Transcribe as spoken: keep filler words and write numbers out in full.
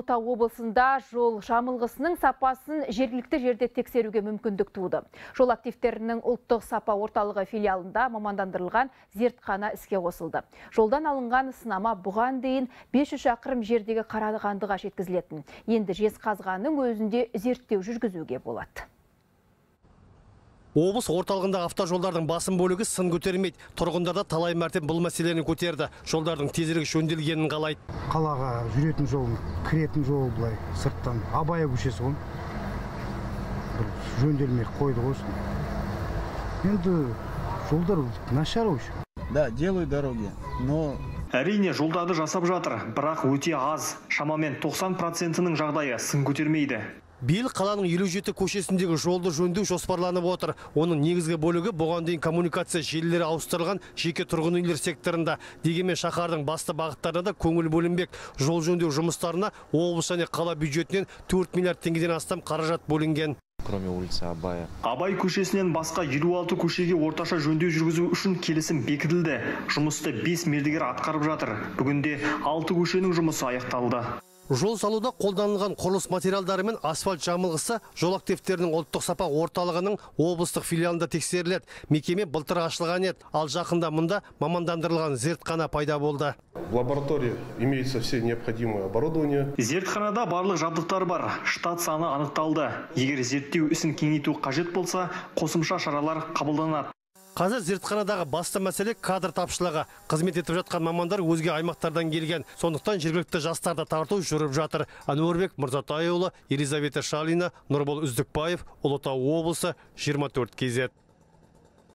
Ұлытау облысында жол жамылғысының сапасын жергілікті жерде тексеруге мүмкіндік туды. Жол активтерінің ұлттық сапа орталығы филиалында мамандандырылған зертхана іске қосылды. Жолдан алынған сынама бұған дейін бес жүз шақырым жердегі Қарағандыға жеткізілетін. Енді Жезқазғанның өзінде зерттеу жүргізуге болады. Облыс орталығындағы автожолдардың басым бөлігі сын көтермейді. Тұрғындарда талай мәрте бұл мәселені көтерді. Жолдардың тезірек жөнделгенін қалайды. Қалаға жүретін жол, кіретін жол былай сырттан Абай көшесі ғой. Бір жөнделмей қойды ғой. Енді жолдар нашар ғой. Да, делают дороги, но әрине жолдарды жасап жатыр, бірақ өте аз. Шамамен тоқсан процентінің жағдайы сын көтермейді. Биыл қаланың елу жеті көшесіндегі жолды жөндеу жоспарланып отыр. Оның негізгі бөлігі бұған дейін коммуникация желілері ауыстырылған жеке тұрғын үйлер секторында. Дегенмен шаһардың басты бағыттарына да көңіл бөлінбек. Жол жөндеу жұмыстарына облыс және қала бюджетінен төрт миллиард теңгеден астам қаражат бөлінген. Кроме улицы Абая. Абай көшесінен басқа елу алты көшеге орташа жөндеу жүргізу үшін келісім бекітілді. Жұмысты бес мердігер атқарып жатыр. Бүгінде алты көшенің жұмысы аяқталды. Жол салуда қолданылған құрылыс материалдары мен асфальт жамылғысы жол активтерінің ұлттық сапа орталығының облыстық филиалында тексеріледі. Мекеме былтыр ашылған еді, ал жақында мұнда мамандандырылған зертхана пайда болды. В лаборатории имеется все необходимое оборудование. Зертханада барлық жабдықтар бар, штат саны анықталды. Егер зерттеу ісін кеңейту қажет болса, қосымша шаралар қабылданады. Қазір зертханадағы басты мәселе кадр тапшылығы. Қызмет етіп жатқан мамандар өзге аймақтардан келген. Сондықтан жергілікті жастарды тарту жүріп жатыр. Әнуарбек Мырзатайұлы, Елизавета Шалина, Нұрбол Үздікбаев, Ұлытау облысы, жиырма төрт кей зет.